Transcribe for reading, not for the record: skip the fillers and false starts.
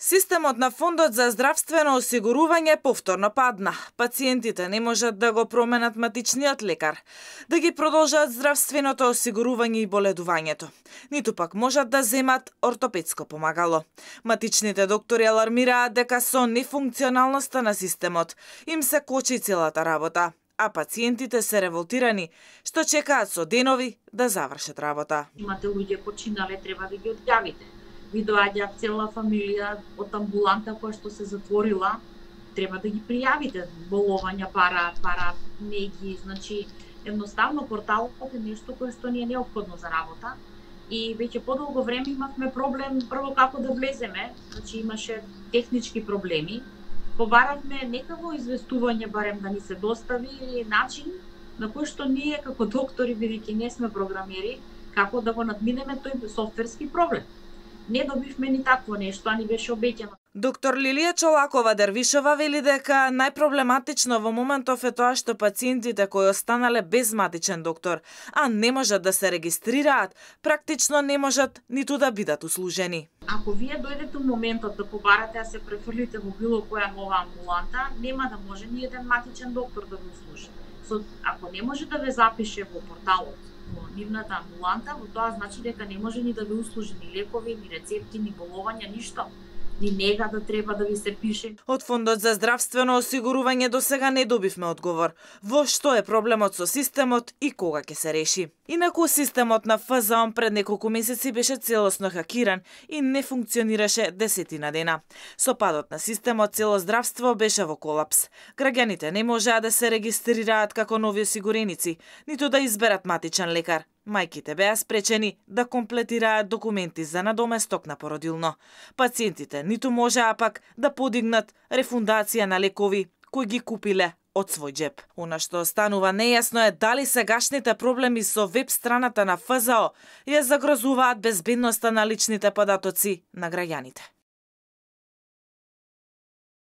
Системот на Фондот за здравствено осигурување повторно падна. Пациентите не можат да го променат матичниот лекар, да ги продолжат здравственото осигурување и боледувањето, ниту пак можат да земат ортопедско помагало. Матичните доктори алармираат дека со нефункционалноста на системот им се кочи целата работа, а пациентите се револтирани, што чекаат со денови да завршат работа. Имате луѓе починале, треба да ги одјавите. Ви доаѓа цела фамилија од амбуланта која што се затворила, треба да ги пријавите. Боловања параат неги, значи едноставно порталот е нешто кое што ни е неопходно за работа и веќе подолго време имавме проблем прво како да влеземе, значи имаше технички проблеми. Побаравме некако известување барем да ни се достави или начин на кој што ние како доктори, бидејќи не сме програмери, како да го надминеме тој софтверски проблем. Не добивме ни такво нешто, а ни беше обеќано. Доктор Лилија Чолакова-Дервишова вели дека најпроблематично во моментов е тоа што пациентите кои останале без матичен доктор, а не можат да се регистрираат, практично не можат ниту да бидат услужени. Ако вие дојдете во моментот да побарате да се префрлите во било која нова амбуланта, нема да може ни еден матичен доктор да го услужи. Ако не може да ве запише во порталот во нивната амбуланта, во тоа значи дека не може ни да ви услужи ни лекови, ни рецепти, ни боловања, ништо. Ни нега да треба да ви се пише. Од Фондот за здравствено осигурување до сега не добивме одговор во што е проблемот со системот и кога ќе се реши. Инаку системот на ФЗО пред неколку месеци беше целосно хакиран и не функционираше десетина дена. Со падот на системот цело здравство беше во колапс. Граѓаните не можеа да се регистрираат како нови осигуреници, ниту да изберат матичен лекар. Мајките беа спречени да комплетираат документи за надоместок на породилно. Пациентите ниту можеа пак да подигнат рефундација на лекови кои ги купиле од свој џеп. Она што останува нејасно е дали сегашните проблеми со веб страната на ФЗО ја загрозуваат безбедноста на личните податоци на граѓаните.